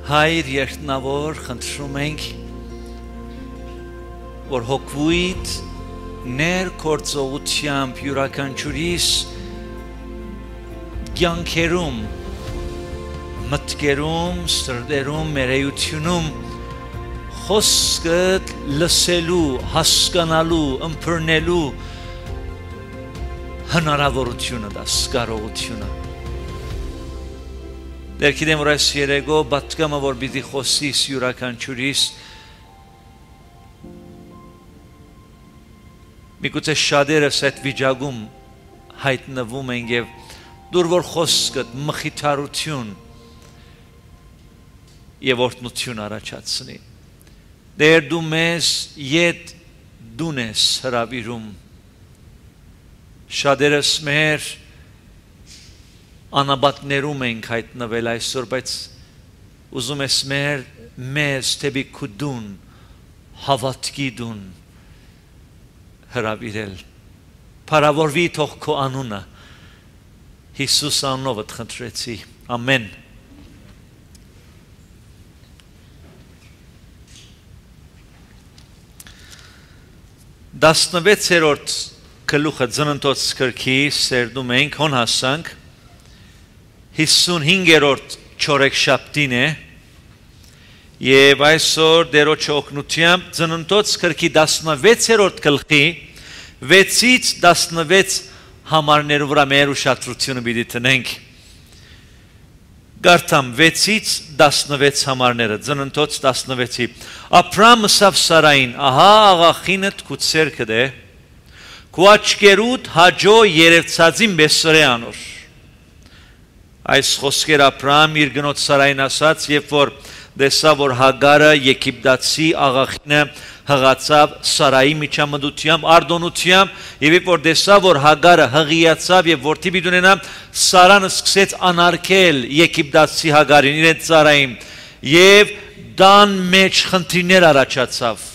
Հայր երկնավոր խնդրում ենք, որ հոգվույթ ներգործողությամբ յուրաքանչյուրիս կյանքերում, մտքերում, սրտերում, մերեյությունում խոսքդ լսելու, հասկանալու, ըմբռնելու հնարավորությունը դաս, կարողությունը Դեր գիտեմ, որ այս երեգո պատկամը, որ պիտի խոսիս յուրաքանչյուրիս միգուցե շատերս այդ վիճակում հայտնվում են և դուր որ խոսքդ մխիթարություն և օրհնություն առաջացնի Դեր դու մեզ ետ դուն ես հրավիրում շատերս մեր անաբատներում ենք հայտնվել այսօր, բայց ուզում ես մեզ թեպի քու դուն, հավատքի դուն հրավիրել Փարավորվի թող քո անունը Հիսուս անունով խնդրեցի ամեն Դասնվեցերորդ գլուխը ծննդոց գրքի սերդում ենք հոն հասանք 55-րդ չորեքշաբթին է եւ այսօր դերոջ օգնությամբ ծննդոց գրքի 16-րդ գլխի 6-ից 16 համարներով վրա մեր ուշադրությունը պիտի տնենք Գարտամ 6-ից 16 համարները ծննդոց 16-ի Աբրամ ասավ Սարային ահա աղախինդ քու ցերքդ է քու աչքերուդ հաջո երևցածին բեսրե անոր Այս խոսքեր Աբրահամ իր գնոջ Սարային ասաց, երբ որ տեսավ, որ Հագարը Եգիպտացի աղախինը հղացավ Սարայի միջամտությամբ, արտոնությամբ, եւ երբ որ տեսավ, որ Հագարը հղիացավ եւ որդի պիտի ունենա, Սարան սկսեց անարգել Եգիպտացի Հագարին իրենց Սարային եւ դան մեջ խնդիրներ առաջացավ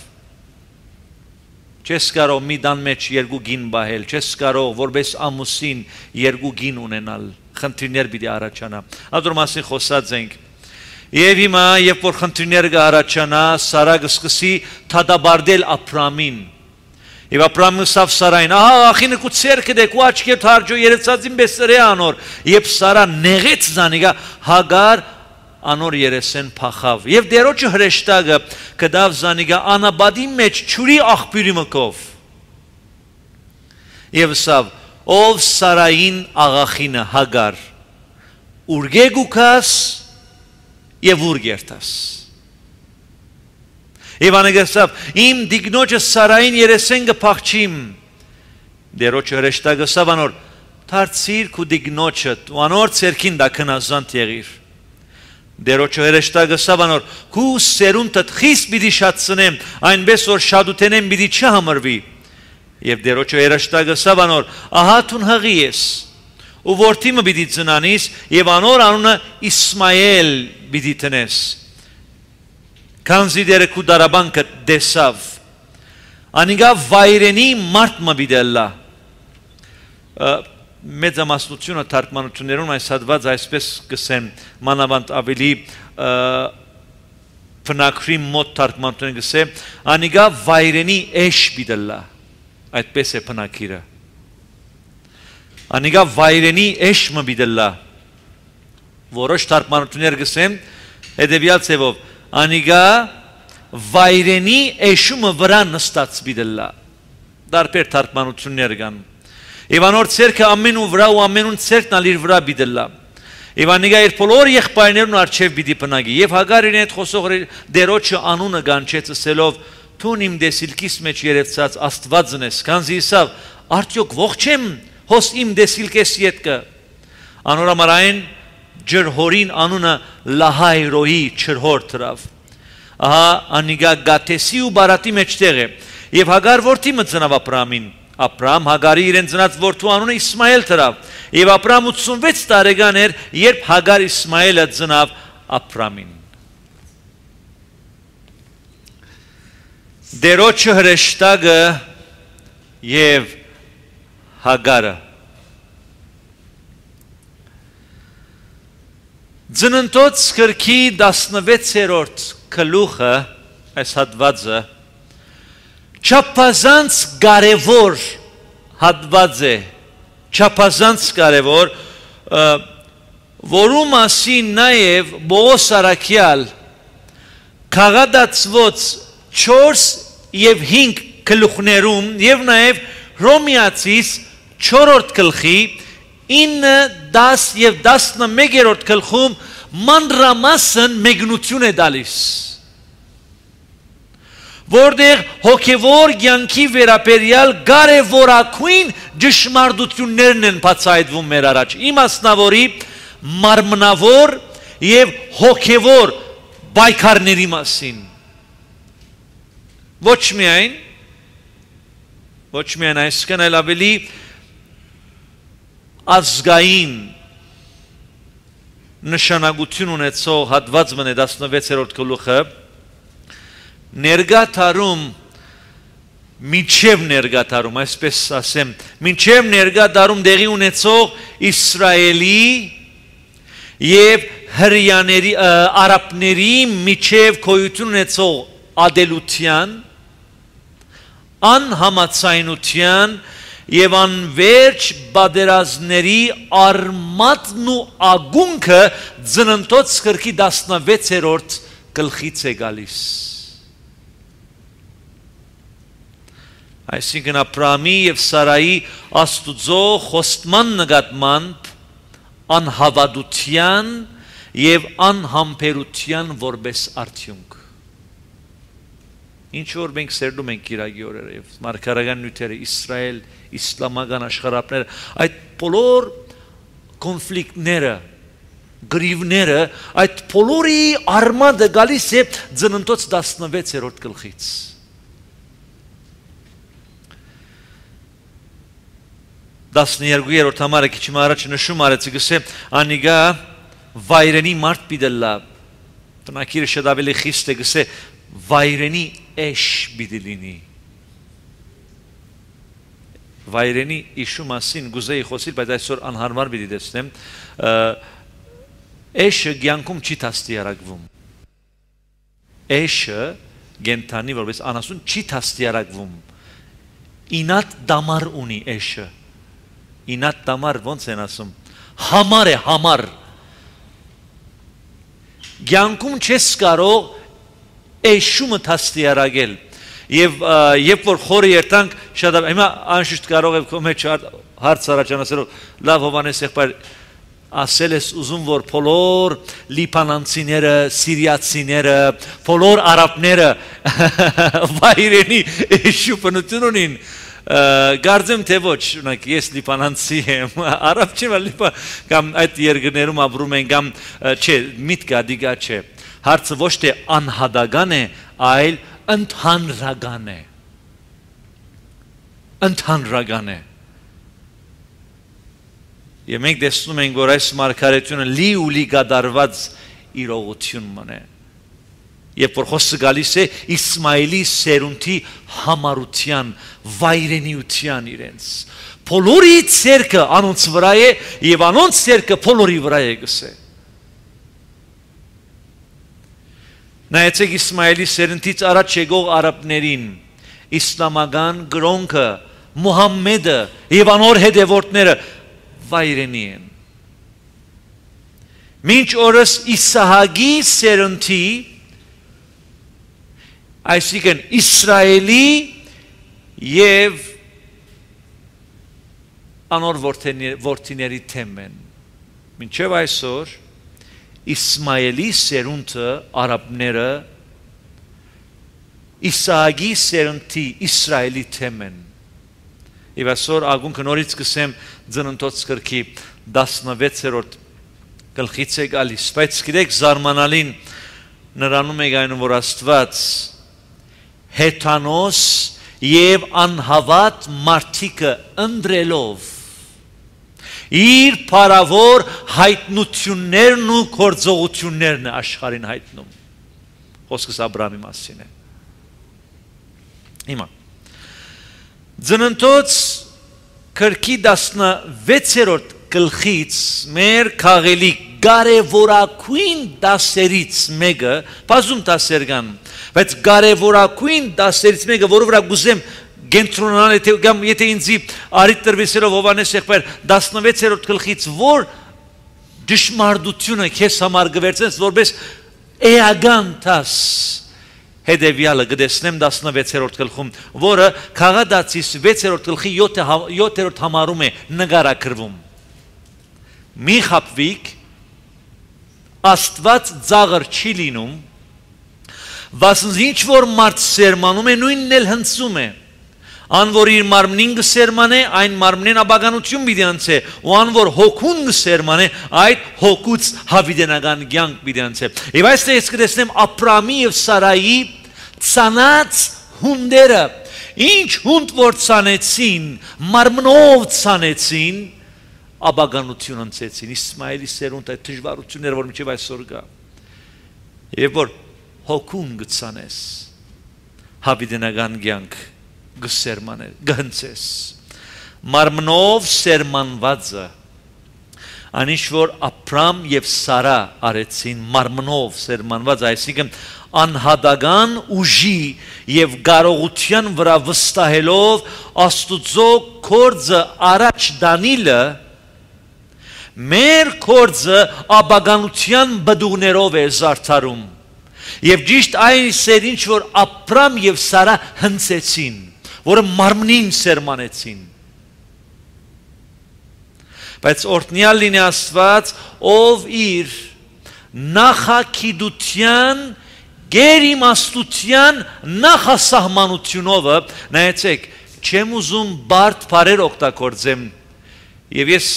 Չես կարող մի դան մեջ երկու գին բահել, չես կարող որպես ամուսին երկու գին ունենալ խնդիրներ պիտի առաջանա Ադոր մասին խոսած ենք Եվ հիմա երբ որ խնդիրներ կառաջանա Սարա կսկսի թադաբարդել Աբրամին Եվ Աբրամը ասավ Սարային ահա աղախինը քու ցերքդ է քու աչքերդ հաջո երևցածին բեսրե անոր Եվ Սարա նեղեց զանիգա Հագար անոր երեսեն փախավ Եվ դերոջը հրեշտակը կդավ զանիգա անաբադի մեջ ճուրի աղբյուրի մկով Եվ ասավ Ով Սարային աղախինը Հագար Ուրգեգուքաս եւ ուրգերտաս Եվ անեգասավ իմ դիգնոջը Սարային երեսեն կփախչիմ Դերոջը հրեշտակը ասավ անոր Դարձիր քու դիգնոջդ ու անոր ցերքին դա քնազանդ եղիր Դերոջը հրեշտակը ասավ անոր քու սերունդդ խիստ պիտի շատցնեմ այնպես որ շատութենեն պիտի չհամրվի Եվ դերոջը հրեշտակը ասավ անոր ահա տուն հղի ես ու որդիմը պիտի ծնանիս եւ անոր անունը Իսմայել պիտի տնես Քանզի դերը քու դարաբանքը դեսավ Անիգա վայրենի մարդը պիտի լա Մեծամասնությունը թարգմանություններում այս հատված այսպես կսեն մանավանդ ավելի փնակրի մոտ թարգմանությունները կսե Անիգա վայրենի էշ պիտի լա Այդպես է փնակիրը Անիգա վայրենի էշմը պիտի Որոշ թարգմանություններ կսեն հետևյալ ձևով Անիգա վայրենի էշումը վրա նստած պիտի Տարբեր թարգմանություններ կան Եվ անոր ցերքը ամենու վրա ու ամենուն ցերքն ալ իր վրա պիտի Եվ անիգա իր բոլոր եղբայրներուն առջև պիտի փնագի Եվ Հագարին այդ խոսող դերոջը անունը կանչեց ասելով Տուն իմ դեսիլքիս մեջ երևցած աստվածն ես, քանզի իսավ, արդյոք ողջ եմ, հոս իմ դեսիլքես ետկը, անորամարային ջրհորին անունը լահայրոյի չրհոր թրավ, ահա անիգա գատեսի ու բարատի մեջտեղ է, և Հագար որդիմը ծնավ Աբրամին, Աբրամ Հագարի իրեն ծնած որդու անունը Իսմայել թրավ, և Աբրամ 86 տարեկան էր, երբ Հագար Իսմայելը ծնավ Աբրամին Դերոջը հրեշտակը և Հագարը Ծննդոց գրքի 16-րդ գլուխը այս հատվածը չափազանց կարևոր հատված է, չափազանց կարևոր, որու մասին նաև Պողոս առաքյալ քաղաքացիոց 4 և 5 գլուխներում և նաև Հռոմեացիս 4-րդ գլխի 9, 10 և 11-րդ գլխում մանրամասն մեկնություն է տալիս, որտեղ հոգևոր կյանքի վերաբերյալ կարևորագույն ճշմարտություններն են բացահայտվում մեր առաջ, իմաստնավորի մարմնավոր և հոգևոր պայքարների մասին։ Ոչ միայն այսքան, այլ ավելի ազգային նշանակություն ունեցող հատվածն է 16-րդ գլուխը, ներկա դարում, մինչև ներկա դարում, այսպես ասեմ, մինչև ներկա դարում տեղի ունեցող Իսրայելի և հրեաների, արաբների միջև գոյություն ունեցող ադելության, անհամաձայնության և անվերջ պատերազմների արմատն ու ակունքը Ծննդոց գրքի 16-րդ գլխից է գալիս։ Այսինքն Աբրահամի և Սարայի Աստուծո խոստման նկատմամբ անհավատության և անհամբերության որպես արդյունք։ Ինչ որ մենք սերնում ենք կիրակի օրերը և մարգարեական նյութերը, Իսրայել, իսլամական աշխարհապները, այդ բոլոր կոնֆլիկտները, գրիվները, այդ բոլորի արմատը գալիս է Ծննդոց 16-րդ գլխից։ Տասներկուերորդ համարը քիչ առաջ նշում արեցի, գսե անիգա վայրենի մարդ պիտելա, տնակիրը շատ ավելի խիստ է, գսե վայրենի էշ պիտի լինի։ Վայրենի իշու մասին գուզեի խոսիլ, բայց այսօր անհարմար պիտի տեսնեմ, էշը կյանքում չի դաստիարակվում։ Էշը կենդանի որպես անասուն չի դաստիարակվում։ Ինատ դամար ունի էշը։ Ինատ դամար ոնց են ասում, համար է, համար։ Կյանքում չես կարող էշումը դաստիարակել։ Եվ երբ որ խորը երթանք, շատ հիմա անշուշտ կարող եք քո մեջ հարց առաջանալով, լավ Հովհաննես եղբայր, ասել ես ուզում, որ բոլոր լիբանանցիները, սիրիացիները, բոլոր արաբները վայրենի էշու բնություն ունին։ Գարձեմ թե ոչ, ես լիբանանցի եմ, արաբ չեմ, կամ այդ երկրներում ապրում են, կամ չէ, միտքը դիգա չէ։ Հարցը ոչ թե անհատական է, այլ ընդհանրական է։ Ընդհանրական է։ Եվ մենք տեսնում ենք, որ այս մարգարեությունը լի կատարված իրողություն մնե։ Երբ որ խոսքը գալիս է Իսմայելի սերունդի համարության, վայրենիության իրենց։ Բոլորի ցերկը անոնց վրա է եւ անոնց ցերկը բոլորի վրա է գսե։ Նայեցեք Իսմայելի սերունդից առաջ եկող արաբներին, իսլամական գրոնքը, Մուհամմեդը եւ անոր հետևորդները վայրենի են։ Մինչ օրս Իսահակի սերունդի, այսինքն Իսրայելի և անոր որդիների թեմ են։ Մինչև այսօր Իսմայելի սերունդը արաբները Իսահակի սերունդի Իսրայելի թեմ են։ Եվ այսօր ագունքը նորից կսեմ Ծննդոց գրքի 16-րդ գլխից է գալիս, բայց գիտեք զարմանալին նրանում է գայնում, որ Աստված հեթանոս և անհավատ մարդիկը ընտրելով իր փառավոր հայտնություններն ու գործողություններն աշխարհին հայտնում։ Խոսքս Աբրահամի մասին է։ Հիմա Ծննդոց գրքի 16-րդ գլխից մեր քաղելի կարևորագույն դասերից մեկը, բազում դասեր կան, բայց կարևորագույն դասերից մեկը, որը վրա գուզեմ կենտրոնանալ, եթե ինձի արիտ տրվեսելով Հովհաննես եղբայր 16-րդ գլխից, որ դժմարտությունը քեզ համար կվերցնես, որպես էական դաս, հետևյալը կտեսնեմ 16-րդ գլխում, որը Քաղատացիս 6-րդ գլխի 7-րդ համարում է նկարագրվում։ Մի խաբվիկ, Աստված ծաղր չի լինում, վասնզի ինչ որ մարդ սերմանում է, նույնն էլ հնձում է։ Ան որ իր մարմնին կսերմանե, այն մարմնին աբականություն պիտի անցե, ու ան որ հոգուն կսերմանե, այդ հոգուց հավիտենական կյանք պիտի անցե։ Եվ այստեղ ես կտեսնեմ Աբրամի եւ Սարայի ցանած հունդերը, ինչ հունդ որ ցանեցին, մարմնով ցանեցին, աբականություն անցեցին, Իսմայելի սերունդ այդ դժվարությունները, որ մինչև այսօր կա։ Եվ որ հոգուն գցանես, հավիտենական կյանք գսերմանել, գհնցես, մարմնով սերմանվածը, անիշ որ Աբրամ եւ Սարա արեցին մարմնով սերմանված, այսինքն անհատական ուժի եւ կարողության վրա վստահելով Աստուծո գործը առաջ դանիլը, մեր գործը աբականության բդուղներով է զարդարում։ Եվ ճիշտ այն սեր ինչ որ Աբրամ եւ Սարա հնցեցին, որը մարմնին սերմանեցին։ Բայց օրհնյալ լինի Աստված, ով իր նախագիտության, գերիմաստության նախասահմանությունով, նայեցեք, չեմ ուզում բարդ բառեր օգտագործեմ, եւ ես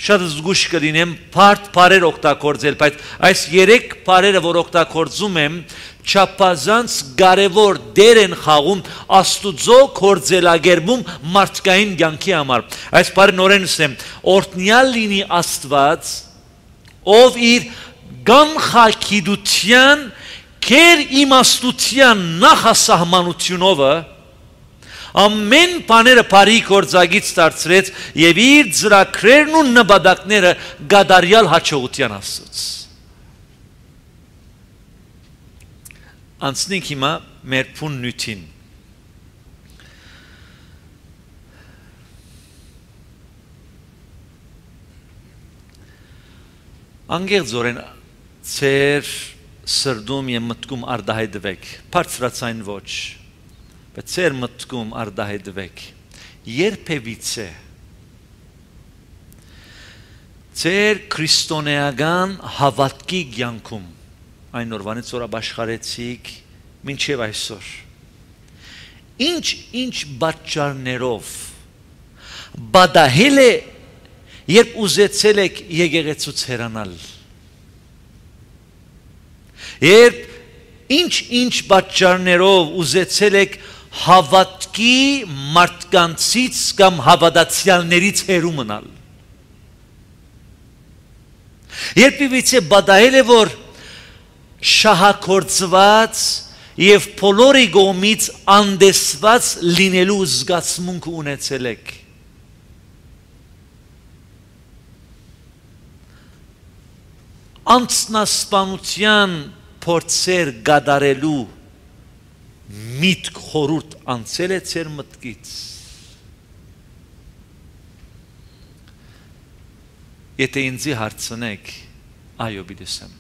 շատ զգուշ կլինեմ բարդ բառեր օգտագործել, բայց այս 3 բառերը, որ օգտագործում եմ, չափազանց կարևոր դեր են խաղում Աստուծո գործելագերբում մարդկային կյանքի համար։ Այս բառը նորեն ասեմ, օրհնյալ լինի Աստված, ով իր կանխագիտության, գերիմաստության նախասահմանությունով ամեն բաները բարի գործագից դարձրեց եւ իր ծրագրերն ու նպատակները գադարյալ հաջողության հասցրեց։ Անցնենք հիմա մեր փուն նյութին։ Անգերձորեն ծեր սրդում եւ մտքում արդահայտվեք, բարձրացային ոչ, բայց ծեր մտքում արդահայտվեք, երբևիցե ծեր քրիստոնեական հավատքի կյանքում, այն օրվանից որ ապաշխարեցիք մինչև այսօր, ինչ պատճառներով բադահել է, երբ ուզեցել եք եկեղեցուց հեռանալ, երբ ինչ պատճառներով ուզեցել եք հավատքի մարդկանցից կամ հավատացյալներից հեռու մնալ, երբևիցե բադահել է, որ շահագործված եւ բոլորի կողմից անդեսված լինելու զգացմունք ունեցել եք, անձնասպանության փորձեր գադարելու միտք խորուրդ անցել է ծեր մտքից, եթե ինձի հարցնեք, այո պիտի ասեմ,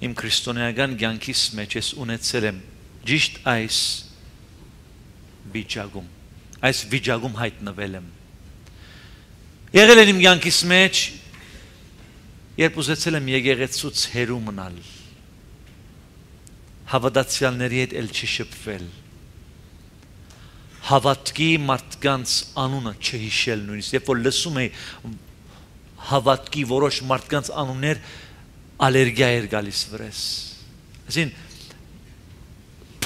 իմ քրիստոնեական կյանքիս մեջ ես ունեցել եմ ճիշտ այս վիճակում հայտնվել եմ, եղել եմ իմ կյանքիս մեջ, երբ ուզեցել եմ եկեղեցուց հեռու մնալ, հավատացյալների հետ էլ չշփվել, հավատքի մարդկանց անունը չհիշել նույնիսկ, երբ որ լսում էի հավատքի որոշ մարդկանց անուններ, ալերգիա էր գալիս վրես, այսին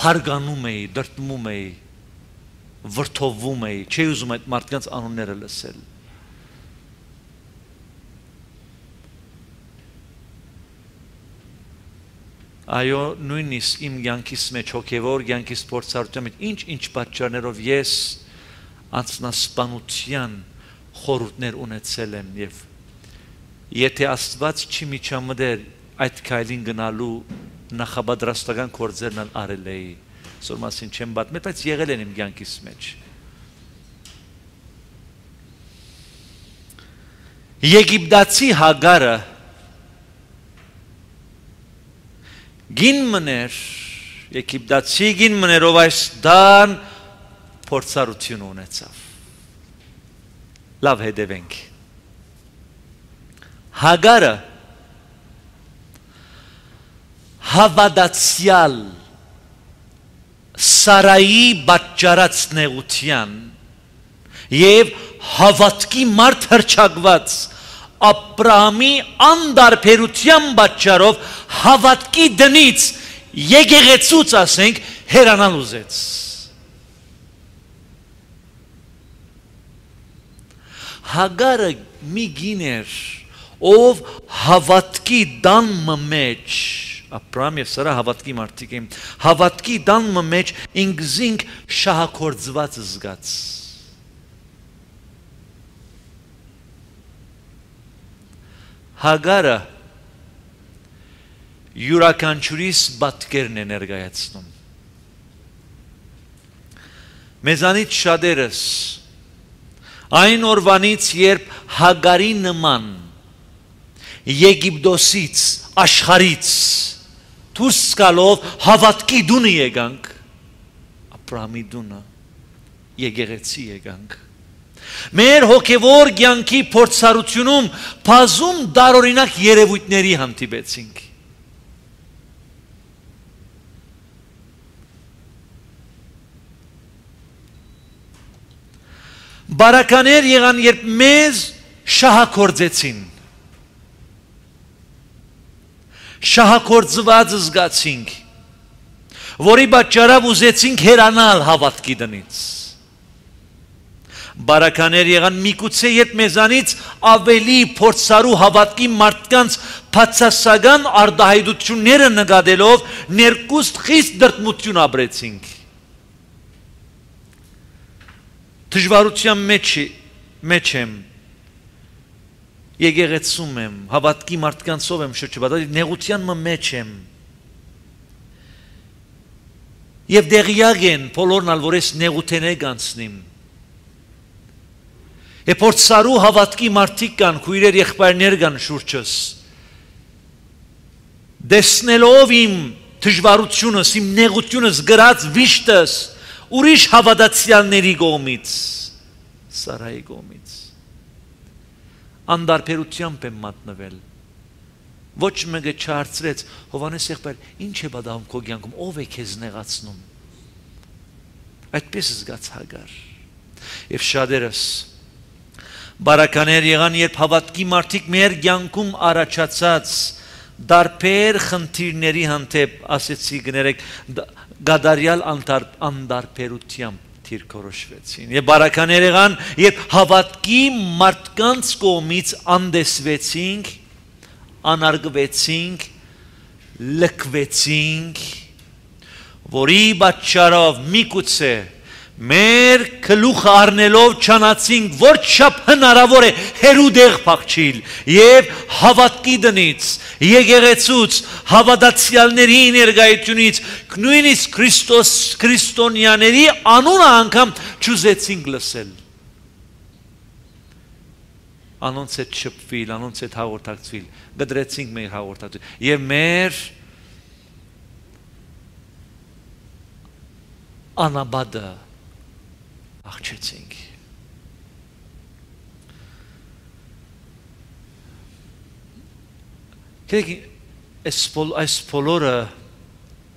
փարգանում էի, դրտմում էի, վրդովում էի, չէի ուզում այդ մարդկանց անունները լսել։ Այո, նույնիսկ իմ կյանքիս մեջ, հոգևոր կյանքիս փորձառության մեջ, ինչ պատճառներով ես անձնասպանության խորհուրդներ ունեցել եմ եւ եթե Աստված չի միջամտեր այդ քայլին գնալու նախապատրաստական գործերն արել էի սոր մասին չեմ պատմել բայց եղել են իմ կյանքիս մեջ Եգիպտացի Հագարը գին մներ Եգիպտացի գին մներով այս դան փորձառություն ունեցավ լավ հետևենք Հագարը հավատացյալ Սարայի պատճառած նեղության եւ հավատքի մարդ հրճակված Աբրահամի անդարբերության պատճառով հավատքի դնից եկեղեցուց ասենք հեռանալ ուզեց Հագարը մի գիներ ով հավատքի դանմը մեջ Աբրահամ եւ Սարա հավատքի մարդիկ են հավատքի դանմը մեջ ինքզինք շահագործված զգաց Հագարը յուրաքանչյուրիս պատկերն է ներկայացնում մեզանից շատերս այն օրվանից երբ Հագարի նման Եգիպտոսից աշխարից դուրս գալով հավատքի դունը եկանք Աբրահամի դունը եկեղեցի եկանք մեր հոգևոր կյանքի փորձառությունում բազում դարօրինակ երևույթների հանդիպեցինք բարականեր եղան երբ մեզ շահագործեցին շահագործված զգացինք որի պատճառով ուզեցինք հեռանալ հավատքի դնից բարականեր եղան միգուցե երբ մեզանից ավելի փորձառու հավատքի մարդկանց բացասական արտահայտությունները նկատելով ներկուստ խիստ դրդմություն ապրեցինք դժվարության մեջ եմ եկեղեցում եմ հավատքի մարդկանցով եմ շրջապատել նեղության մեջ եմ եւ դեղյակ են բոլորն ալ որ ես նեղութենեկ անցնիմ եւ փորձառու հավատքի մարդիկ կան քույրեր եղբայրներ կան շուրջս դեսնելով իմ դժվարությունս իմ նեղությունս գրած վիշտս ուրիշ հավատացյալների կողմից Սարայի կողմից անդարբերությամբ եմ մատնվել ոչ մեկը չհարցրեց Հովհաննես եղբայր ինչ է պատահում քո կյանքում ով է քեզ նեղացնում այդպես զգաց Հագար եւ շատերս բարականեր եղան երբ հավատքի մարդիկ մեր կյանքում առաջացած դարբեր խնդիրների հանդեպ ասեցի գներեք գադարյալ անդարբերությամբ թիրքորոշվեցին եւ բարականեր եղան երբ հավատքի մարդկանց կողմից անդեսվեցինք անարգվեցինք լքվեցինք որի պատճառով միգուցե մեր գլուխը առնելով չանացինք որ չափ հնարավոր է հերուդեղ փախչիլ եւ հավատքի դնից եկեղեցուց հավատացյալների ներկայությունից նույնիսկ քրիստոնյաների անունը անգամ չուզեցինք լսել անոնց հետ շփվել անոնց հետ հաղորդակցվել գդրեցինք մեր հաղորդակցություն եւ մեր անաբադը աղջեցինք այս բոլորը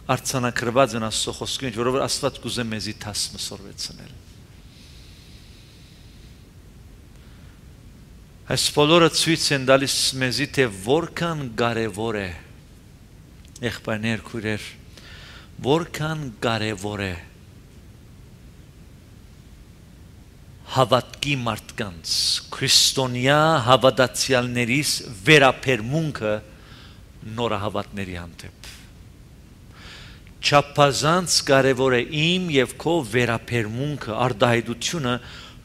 արձանագրված են Աստծո խոսքին որովհետև Աստված կուզե մեզի թաս մսորվեցնել այս բոլորը ցույց են տալիս մեզի թե որքան կարևոր է եղբայրներ քույրեր որքան կարևոր է հավատքի մարդկանց քրիստոնյա հավատացյալներիս վերապերմունքը նորահավատների հանդեպ չափազանց կարևոր է իմ եւ քո վերապերմունքը արտահայտությունը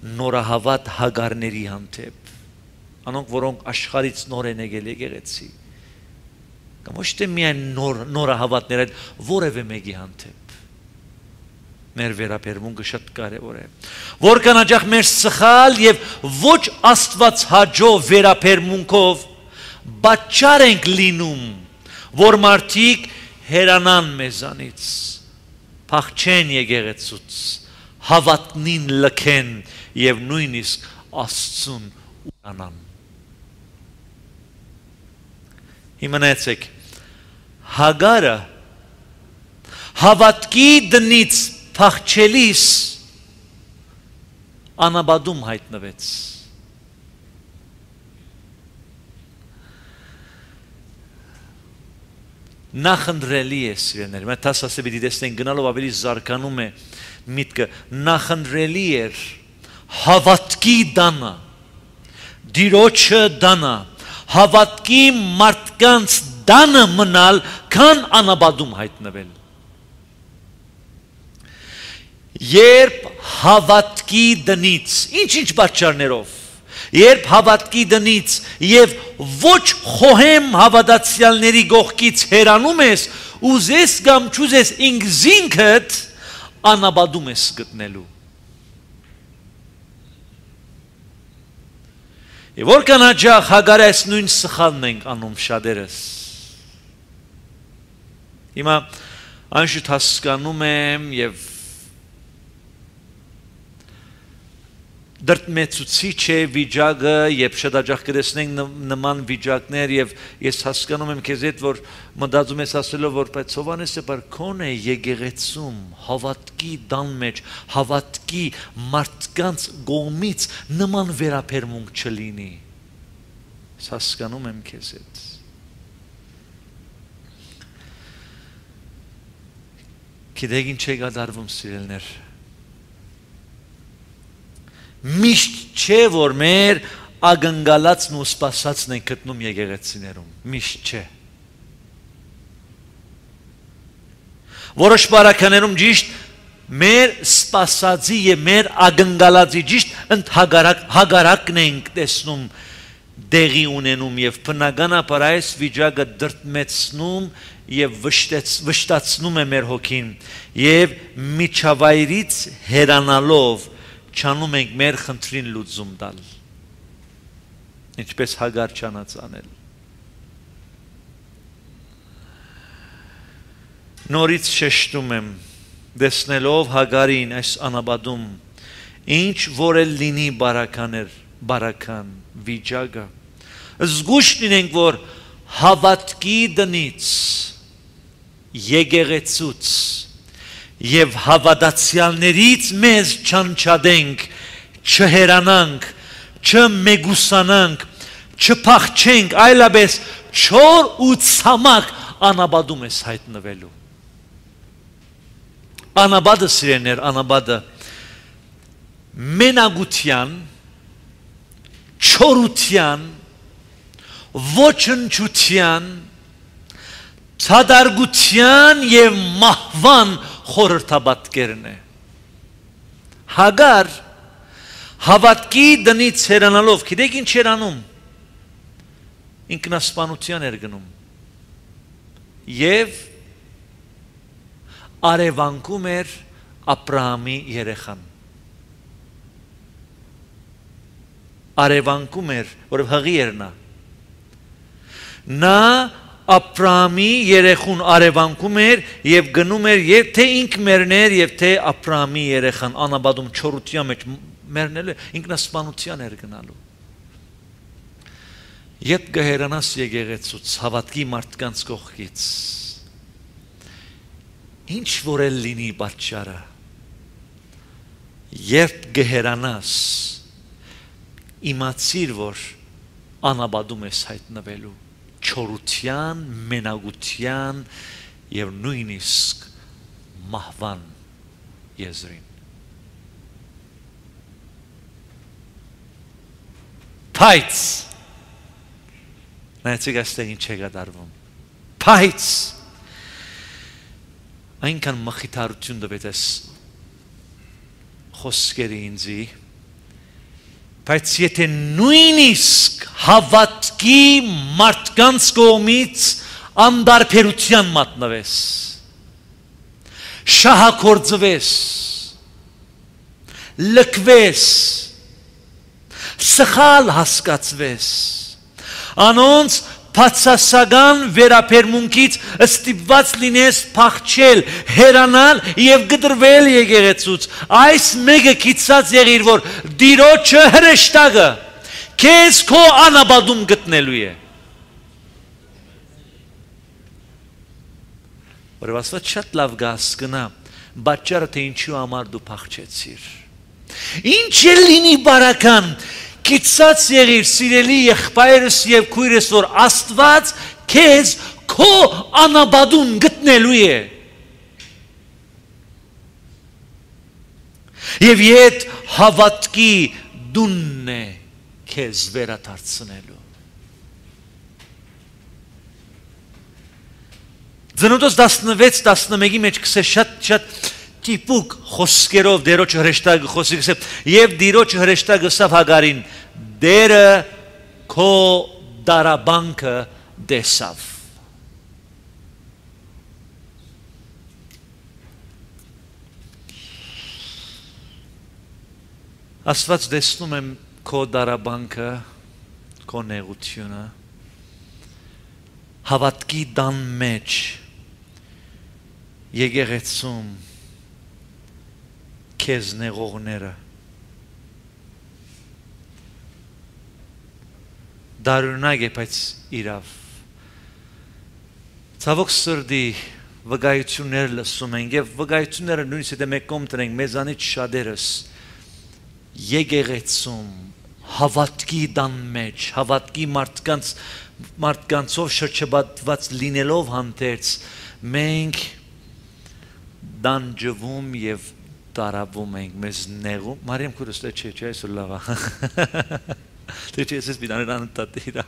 նորահավատ հագարների հանդեպ, անոնք որոնք աշխարհից նոր են եկել եկեղեցի, կամ ոչ թե միայն նորահավատներ այդ որևէ մեկի հանդեպ մեր վերաբերմունքը շատ կարևոր է, որքան հաճախ մեր սխալ եւ ոչ Աստված հաջող վերաբերմունքով պատճառ ենք լինում, որ մարդիկ հերանան մեզանից, փախչեն եկեղեցուց, հավատնին լքեն եւ նույնիսկ Աստծուն ուրանան։ Իմանացեք, Հագարը հավատքի դնից փախչելիս անաբադում հայտնվեց։ Նախընտրելի է սիրելիներ, մենք ասած պիտի տեսնենք գնալով ավելի զարգանում է միտքը, նախընտրելի էր հավատքի դանը, դիրոջը դանը, հավատքի մարդկանց դանը մնալ, քան անաբադում հայտնվել։ Երբ հավատքի դնից, ինչ պատճառներով, երբ հավատքի դնից եւ ոչ խոհեմ հավատացյալների գողքից հեռանում ես, ուզես կամ չուզես ինքզինքդ անաբադում ես գտնելու։ Եվ որքան հաճախ Հագարի այս նույն սխալն ենք անում շատերս։ Հիմա անշուտ հասկանում եմ եւ դրդմեցուցիչ է վիճակը, երբ շատ հաճախ կտեսնենք նման վիճակներ եւ ես հասկանում եմ քեզ հետ, որ մտածում ես ասելով, որ բայց Հովհաննեսը բարքոն է եկեղեցում, հավատքի դան մեջ, հավատքի մարդկանց կողմից նման վերաբերմունք չլինի։ Ես հասկանում եմ քեզ հետ։ Գիտեք ինչ է կատարվում սիրելիներ։ Միշտ չէ, որ մեր ագնկալածն ու սպասածն են գտնում եկեղեցիներում, միշտ չէ։ Որոշ բարականերում ճիշտ մեր սպասածի եւ մեր ագնկալածի ճիշտ հագարակն ենք տեսնում դեղի ունենում եւ բնականաբար այս վիճակը դրդմեցնում եւ վշտացնում է մեր հոգին եւ միջավայրից հեռանալով չանում ենք մեր խնդրին լուծում տալ, ինչպես Հագար չանաց անել։ Նորից շեշտում եմ, տեսնելով Հագարին այս անաբադում, ինչ որ էլ լինի բարական վիճակը, զգուշ լինենք, որ հավատքի դնից, եկեղեցուց եւ հավատացյալներից մեզ չանչադենք, չհերանանք, չմեգուսանանք, չփախչենք, այլապես չոր ու ցամաք անաբադում ես հայտնվելու։ Անաբադը սիրելիներ, անաբադը մենագության, չորության, ոչնչության, ցադարգության եւ մահվան խորհրդաբատկերն է։ Հագար հավատքի դնից հեռանալով, գիտեք ինչ էր անում, ինքնասպանության էր գնում եւ արևանքում էր Աբրահամի երեխան, արևանքում էր, որով հղի էր նա Աբրահամի երեխուն արևանքում էր եւ գնում էր եւ թե ինք մեռներ եւ թե Աբրահամի երեխան անաբադում չորության մեջ մեռնել ինքնասպանության էր գնալու։ Երբ գհերանաս եկեղեցուց հավատքի մարդկանց կողքից, ինչ որ էլ լինի պատճառը, երբ գհերանաս իմացիր, որ անաբադում ես հայտնվելու չորության, մենագության եւ նույնիսկ մահվան եզրին։ Բայց նայեցեք այստեղ ինչ է կատարվում։ Բայց այնքան մխիթարություն տվեց այս խոսքերը ինձի, Բայց եթե նույնիսկ հավատքի մարդկանց կողմից անդարբերության մատնվես, շահագործվես, լքվես, սխալ հասկացվես, անոնց բացասական վերաբերմունքից ստիպված լինես փախչել, հեռանալ եւ գտրվել եկեղեցուց, այս մեկը գիծած եղիր, որ Տիրոջը հրեշտակը քեզ քո անաբադում գտնելու է։ Որ ասված շատ լավ գասկնա, պատճառը թե ինչու համար դու փախչեցիր։ Ինչ է լինի բարական, գիծած եղիր սիրելի եղբայրս եւ քույրս, որ Աստված քեզ քո անաբադում գտնելու է։ Եվ իդ հավատքի դունն է քեզ վերադարձնելու։ Ծնոտոց 16-11-ի մեջ կսե շատ տիպուկ խոսքերով Տիրոջ հրեշտակը խոսի, կսե եւ Տիրոջ հրեշտակը սավ Հագարին դերը քո դարաբանքը դեսավ։ Աստված դեսնում եմ քո դարաբանքը, քո նեղությունը, հավատքի դան մեջ, եկեղեցում, քեզ նեղողները, դարունակ է, բայց իրավ, ցավոք սրտի վկայություններ լսում ենք եւ վկայությունները նույնիսկ եթե մենք կողմ տնենք մեզանից շատերս եկեղեցում հավատքի դան մեջ, հավատքի մարդկանցով շրջապատված լինելով հանդերձ մենք դանջվում եւ տարավում ենք, մեզ նեղում, Մարիամ քուրս չէ, այսօր լավ է։ Դե չէ, ես բիդաներան տատիրա։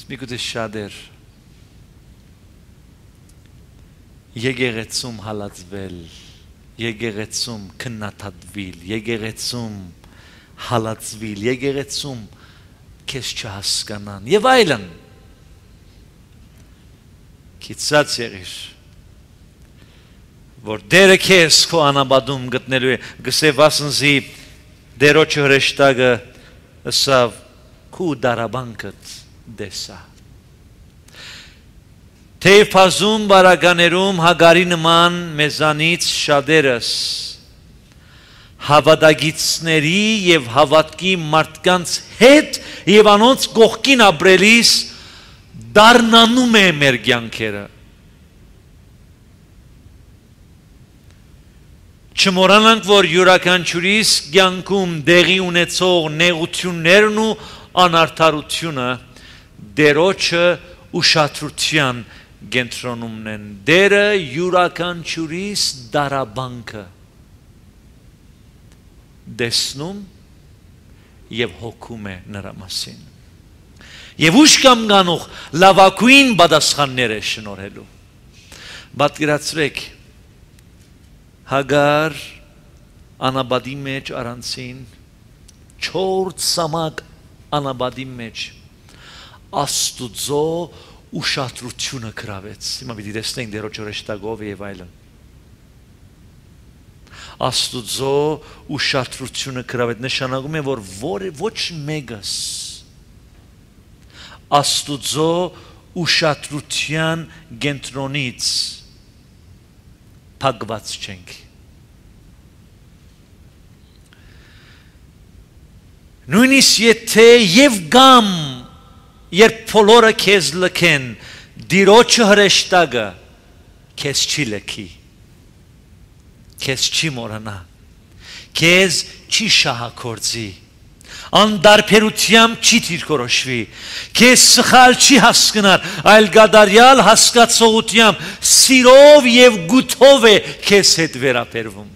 Միգուցե շատեր եկեղեցում հալածվել, եկեղեցում քննադատվել, եկեղեցում հալածվել, եկեղեցում քեզ չհասկանան եւ այլն։ Գիծած եղիր, որ դերը քեզ քո անաբադում գտնելու է, գսե վասնզի Տիրոջ հրեշտակը ըսավ քու դարաբանքդ դեսա։ Թեև փազում բարականերում Հագարի նման մեզանից շատերս հավատագիցների եւ հավատքի մարդկանց հետ եւ անոնց կողքին ապրելիս դառնանում է մեր կյանքերը։ Չմոռանանք, որ յուրաքանչյուրիս կյանքում դեղի ունեցող նեղություններն ու անարդարությունը Տիրոջը ուշադրության կենտրոնում են։ Տերը յուրաքանչյուրիս դարաբանքը դեսնում եւ հոգում է նրա մասին։ Եվ ուշ կամ գանող լավագույն պատասխաններ է շնորհելու։ Պատկերացրեք Հագար անաբադի մեջ առանցին 4 սամակ անաբադի մեջ Աստուծո ուշադրությունը գրավեց։ Հիմա պիտի տեսնենք Տիրոջ հրեշտակով եւ այլն։ Աստուծո ուշադրությունը գրավեց, նշանակում է, որ ոչ մեկս Աստուծո ուշադրության կենտրոնից փակված չենք։ Նույնիսկ եթե եւ գամ երբ բոլորը քեզ լքեն, Տիրոջը հրեշտակը քեզ չի լքի, քեզ չի մոռանա, քեզ չի շահագործի, անդարբերությամբ չի դիրքորոշվի, քեզ սխալ չի հասկնար, այլ գադարյալ հասկացողությամբ, սիրով եւ գութով է քեզ հետ վերաբերվում։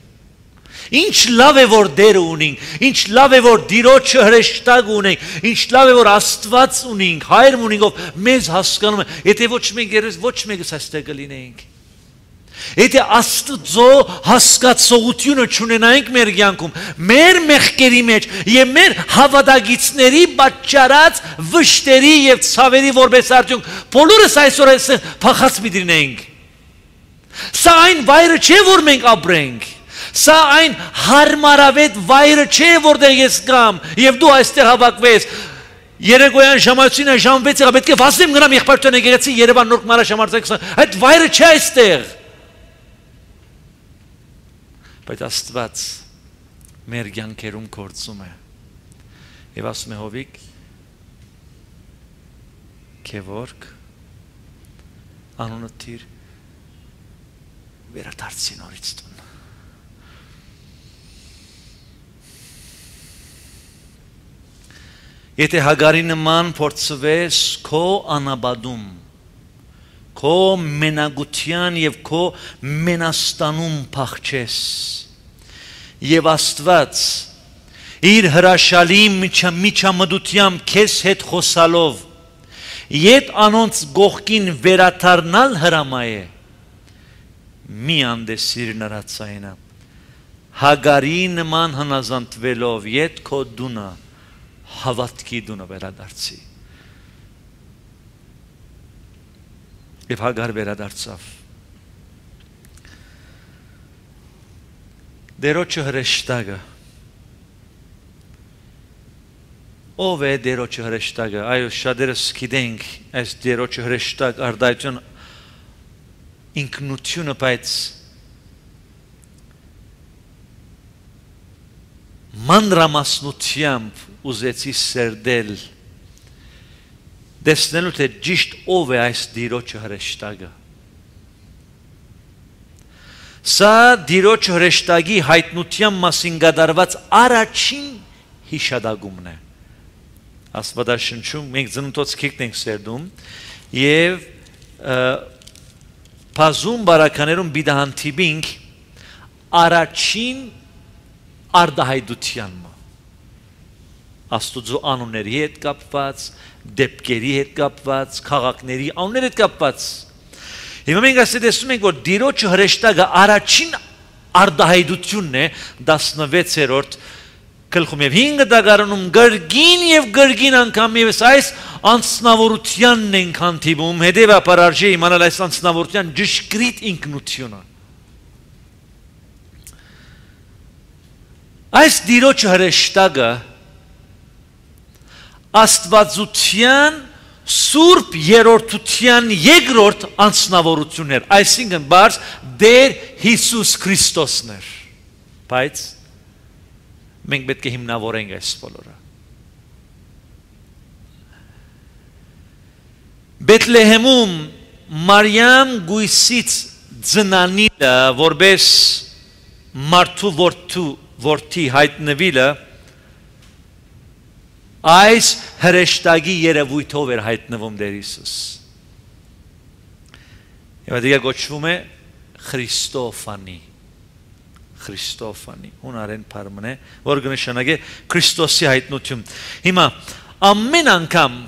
Ինչ լավ է, որ Տերը ունենք, ինչ լավ է, որ Տիրոջը հրեշտակ ունենք, ինչ լավ է, որ Աստված ունենք, Հայր ունենք, ով մեզ հասկանում է, եթե ոչ մեկս այստեղ կլինեինք։ Եթե Աստծո հասկացողությունը չունենայինք մեր կյանքում, մեր մեղքերի մեջ եւ մեր հավատագիցների պատճառած վշտերի եւ ցավերի որպես արդյունք, բոլորս այսօր փախած մի դինենք։ Սա այն վայրը չէ, որ մենք ապրենք։ Սա այն հարմարավետ վայրը չէ, որտեղ ես կամ եւ դու այստեղ հավաքվես։ Երեկոյան ժամացույցին ժամ 6-ը պետք է վազեմ գնամ եղբայրտուն եկեղեցի Երևան նոր մարաշամարտակ, այդ վայրը չէ այստեղ։ Բայց Աստված մեր կյանքերում գործում է։ Եվ ասում է Հովիկ, Քևորգ, անունը թիր վերադարձի նորից տուն։ Եթե Հագարի նման փորձվես քո անաբադում, քո մենագության եւ քո մենաստանում փախչես, եւ Աստված իր հրաշալի միջամտությամբ քեզ հետ խոսալով, ետ անոնց գողքին վերաթարնալ հրամայ է, մի անդեսիր նրա ցայնը, Հագարի նման հնազանդվելով ետ քո դունը հավատքի դունը վերադարձի։ Եվ Հագար վերադարձավ։ Դերոջը հրեշտակը։ Ով է դերոջը հրեշտակը։ Այո, շատերս գիտենք այս դերոջը հրեշտակ արդայություն ինքնությունը, բայց մանրամասնությամբ ուզեցի սերդել դեսնելու թե ճիշտ ով է այս դիրոջը հրեշտակը։ Սա դիրոջը հրեշտակի հայտնության մասին կատարված առաջին հիշադակումն է։ Աստվածաշնչում մենք ծնունդոց քիքն ենք սերդում եւ բազում բարականերում բիդահանտիբինք առաջին արդահայտության Աստուծո անունների հետ կապված, դեպքերի հետ կապված, քաղաքների անունների հետ կապված։ Հիմա մենք ասել տեսնում ենք, որ Տիրոջը հրեշտակը առաջին արդահայտությունն է 16-րդ գլխում եւ 5 դագարանում գրգին անգամ եւս այս անձնավորությանն ենք հանդիպում, հետեւաբար արժե իմանալ այս անձնավորության ճշգրիտ ինքնությունը։ Այս Տիրոջը հրեշտակը Աստվածության Սուրբ երրորդության երկրորդ անձնավորությունն էր, այսինքն բարձ Տեր Հիսուս Քրիստոսն էր, բայց մենք պետք է հիմնավորենք այս բոլորը։ Բեթլեհեմում Մարիամ գույսից ծնանիլը որպես մարդու որդի հայտնվիլը այս հրեշտակի երևույթով էր հայտնվում Տեր Հիսուս։ Եվ դա կոչվում է Քրիստոֆանի։ Քրիստոֆանի, հունարեն բառն է, որ կնշանակե Քրիստոսի հայտնություն։ Հիմա ամեն անգամ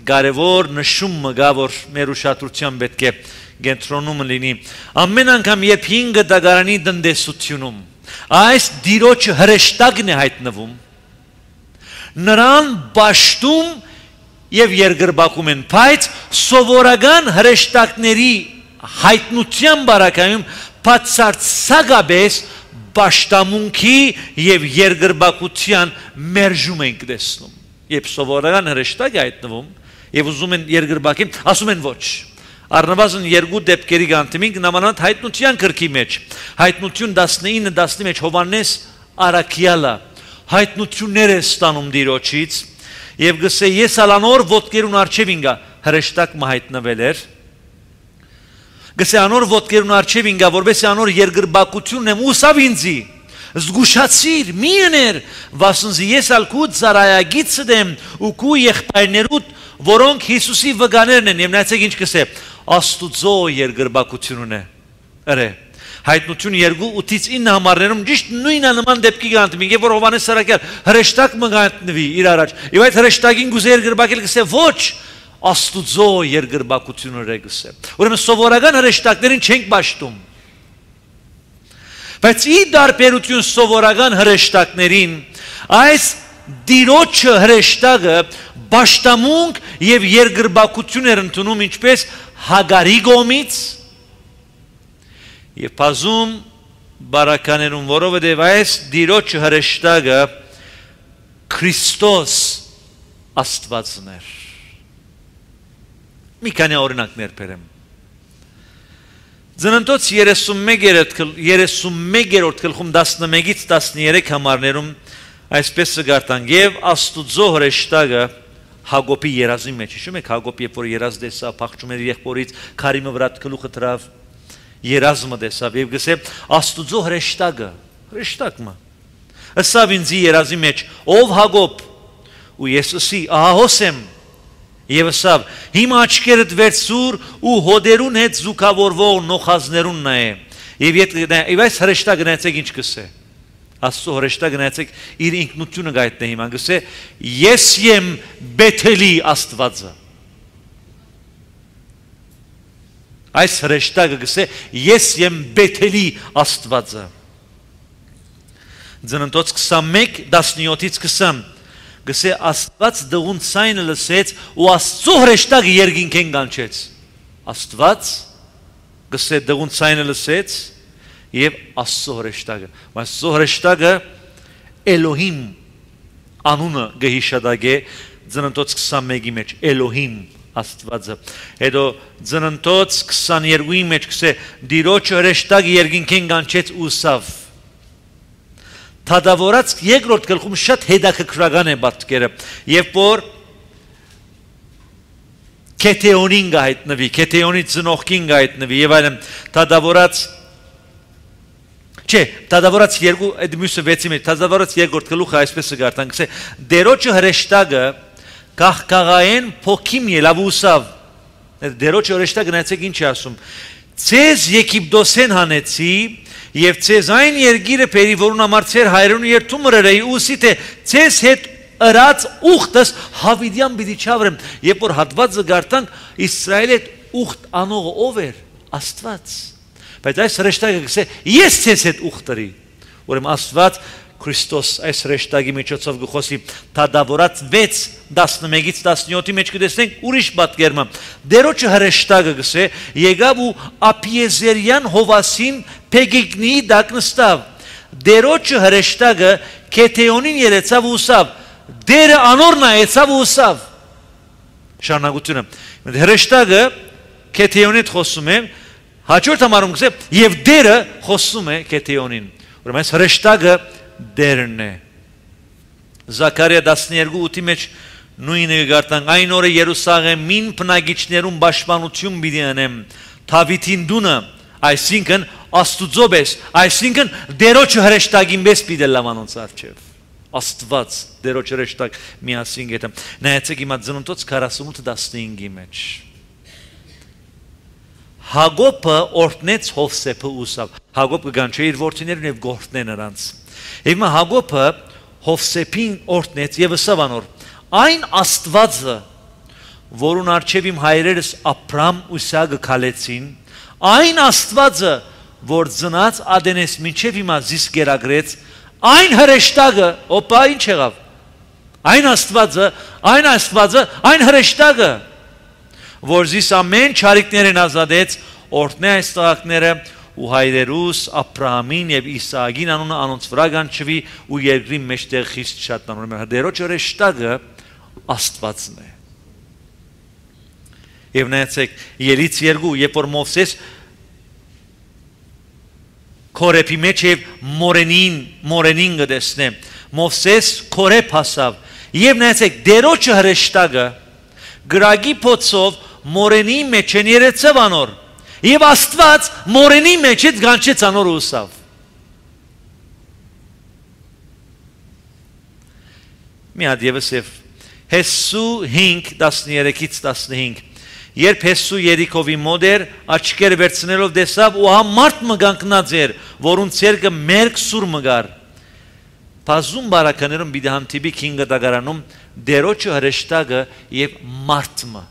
կարևոր նշումը գա, որ մեր ուշադրության պետք է կենտրոնում լինի։ Ամեն անգամ երբ 5 դագարանի տնտեսությունում այս Տիրոջը հրեշտակն է հայտնվում, նրան բաշտում եւ երկրբակում են, բայց սովորական հրեշտակների հայտնության բարակայում բացարձակապես բաշտամունքի եւ երկրբակության մերժում ենք տեսնում։ Երբ սովորական հրեշտակ է հայտնվում եւ ուզում են երկրբակին, ասում են ոչ։ Առնվազն երկու դեպքերի գանտիմինք նամանատ հայտնության գրքի մեջ։ Հայտնություն 19-10-ի մեջ Հովանես Արաքյալը հայտնություններ է ստանում Տիրոջից եւ գսե ես ալանոր ոտքերուն արչեւ ինգա հրեշտակ մահայտնվել էր գսե անոր ոտքերուն արչեւ ինգա որբեսի անոր երկրբակությունն եմ ուսավ ինձի զգուշացիր մի ըներ վասնզի ես ալքու ծարայագից դեմ ու քու եղբայրներուդ որոնք Հիսուսի վկաներն են եւ նայեցեք ինչ գսե Աստուծո երկրբակությունն է ըրե Հայտնություն 2-8-ից 9 համարներում ճիշտ նույնը նման դեպքի գանտմին, երբ որ Հովանես Սարակյալ հրեշտակ մգանտնվի իր առաջ, եւ այդ հրեշտակին գուզե երկրբակել գսե ոչ, Աստուծո երկրբակությունը գսե։ Ուրեմն սովորական հրեշտակներին չենք ճաշտում։ Բայց ի դարբերություն սովորական հրեշտակներին այս դիրոջը հրեշտակը Պաշտամունք եւ երկրբակություն էր ընդունում ինչպես Հագարի կողմից եւ բազում բարականերուն որովհետեւ այս դիրոջ հրեշտակը Քրիստոս Աստվածն էր։ Մի քանի օրինակներ բերեմ։ Ծննդոց 31-րդ գլխում 11-ից 13 համարներում այսպես կգարտան եւ Աստուծո հրեշտակը Հակոբի երազի մեջ, հիշում եք Հակոբ երբ որ երազ տեսավ, փախչում էր եղբորից, քարիմը վրա գլուխը դրավ, երազը տեսավ եւ գսե Աստուծո հրեշտակը, ասավ ինձ երազի մեջ, ով Հակոբ, ու ես ասի, ահահոս եմ, եւ ասավ, հիմա աչքերդ վերցուր ու հոդերուն հետ զուգավորվող նոխազներուն նայե, եւ այս հրեշտակը նայեցեք ինչ կսե։ Աստծո հրեշտակը նայեցեք իր ինքնությունը գայտնե հիմա գսե ես եմ Բեթելի Աստվածը այս հրեշտակը գսե ես եմ Բեթելի Աստվածը Ծննդոց 21:17-ից 20 գսե Աստված դղուն ցայնը լսեց ու Աստծո հրեշտակը երկինքեն կանչեց Աստված գսե դղուն ցայնը լսեց Եվ Աստծո հրեշտակը, Աստծո հրեշտակը Էլոհիմ անունը գհիշադագե Ծննդոց 21-ի մեջ Էլոհիմ Աստվածը Հետո Ծննդոց 22-ի մեջ կսե Դիրոջ հրեշտակը երկինքեն կանչեց ուսավ Թադավորած երկրորդ գլխում շատ հետաքրքրական է պատկերը Երբ որ Քեթեոնին գայտնվի Քեթեոնի ծնողքին գայտնվի եւ այլն Թադավորած Չէ, Թադավորած 2 այդ մյուսը 6-ի մեջ, Թադավորած 2-րդ գլուխը այսպես կգարտան, գսե դերոջը հրեշտակը կաղկաղային փոքիմ ելավուսավ։ Դերոջը հրեշտակը նայեցեք ինչ է ասում։ Ցեզ Եգիպտոսեն հանեցի եւ ցեզ այն երգիրը բերի որուն համար ցեր հայրենու երթում մրերեի ուսի թե ցեզ հետ ըրած ուխտս Հավիդյան պիտի չավրեմ։ Երբ որ հատվածը գարտանք Իսրայելի ուխտ անողը ով էր Աստված Բայց այս հրեշտակը գսե ես ցես հետ ուխտրի Ուրեմն Աստված Քրիստոս այս հրեշտակի միջոցով գխոսի Թադավորած 6:11-ից 17-ի մեջ կտեսնենք ուրիշ պատկերմը Դերոջը հրեշտակը գսե եկավ ու Ափիեզերյան Հովասին Փեգիգնի դակ նստավ Դերոջը հրեշտակը Քեթեոնին երեցավ ու ուսավ Դերը անորն այեցավ ու ուսավ Շարունակությունը հրեշտակը Քեթեոնիդ խոսում է Հաջորդ համարում գսե եւ դերը խոսում է Քեթեոնին Ուրեմն այս հրեշտակը դերն է Զաքարիա 12:8-ի մեջ նույնը գարտան այն օրը Երուսաղեմին բնակիչներուն պաշտպանություն պիտի անեմ Դավիթին դունը այսինքն Աստուծո պես այսինքն դերոջը հրեշտակին պես պիտի լամանոնց արչեւ Աստված դերոջը հրեշտակ միասին գետեմ նայեցեք հիմա Ծննդոց 48:15-ի մեջ Հակոբը օրտնեց Հովսեփը ուսավ Հակոբը կանչե իր որդիներն եւ գործնե նրանց Հիմա Հակոբը Հովսեփին օրտնեց եւ ասավ անոր Այն Աստվածը որուն արչեւ իմ հայրերս Աբրամ ու Իսահակը քալեցին Այն Աստվածը որ ծնած Ադենես մինչեւ հիմա զիս գերագրեց Այն հրեշտակը օպա ինչ եղավ Այն Աստվածը այն հրեշտակը որ զիս ամեն չարիքներն ազատեց օրտնե այս տղակները ու հայրերուս Աբրահամին եւ Իսահակին անունը անոնց վրա կանչվի ու երկրի մեջտեղ խիստ շատանորում դերոջ հրեշտակը Աստվածն է Եվ նայեցեք Ելից 2 երբ որ Մովսես Քորեփի մեջ եւ մորենին գտեսնե Մովսես Քորեփ հասավ եւ նայեցեք դերոջը հրեշտակը գրագի փոցով մորենի մեջ են երեցավ անոր եւ Աստված մորենի մեջ այդ գանչեց անոր ուսավ մի հատ եւս Հեսու 5:13-ից 15 երբ Հեսու Երիքովի մոտ էր աչքերը վերցնելով տեսավ ու մարդ մգանքնած էր որուն ցերկը մերկ սուր մգար Բազում բարականերում պիտի հանդիպի 5 դագարանում դերոջը հրեշտակը եւ մարդը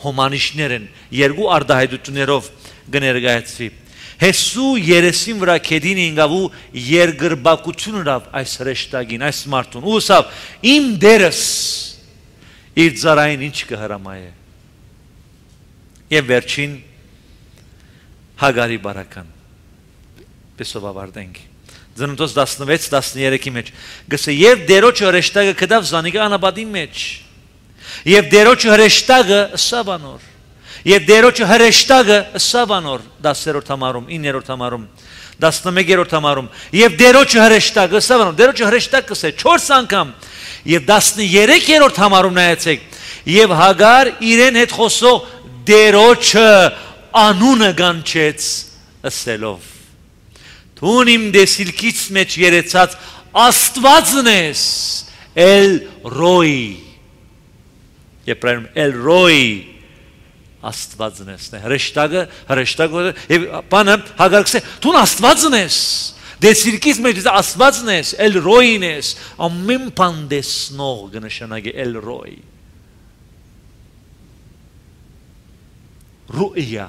հոմանիշներն երկու արդահայտություններով կներկայացվի Հեսու երեսին վրա կեդին ինգավու երգրբակություն հրավ այս հրեշտագին, այս մարդուն, ու սավ, իմ դերս իր ծարային ինչ կհրամայ է։ Եվ վերջին Հագարի բարական, պեսով ավարդենք, Ծննդոց 16-13-ի մեջ, գսե և դերոչը հրեշտագը կդավ զանիկը անաբադի մեջ, և դերոչը հրեշտագը սավանոր, Եվ դերոչը հրեշտագը սավանոր 10-րդ համարում, 9-րդ համարում, 11-րդ համարում, և դերոչը հրեշտագը սավանոր, դերոչը հրեշտագ կսե 4 անգամ, և 13-րդ համարում նայեցեք, և Հագար իրեն հետ խոսող դերոչը անունը գանչեց ըսելով, Թուն իմ դեսիլքից մեջ երեցած աստվածն ես Էլ Ռոյի, և պրայնում Էլ Ռոյի, Աստվածն ես, հրեշտագը, և պանը Հագար կսե, թուն աստվածն ես, դեսիրկից մեջ աստվածն ես, էլ ռոյին ես, ամեն պան դեսնող գնշանագի էլ ռոյ, ռուիա,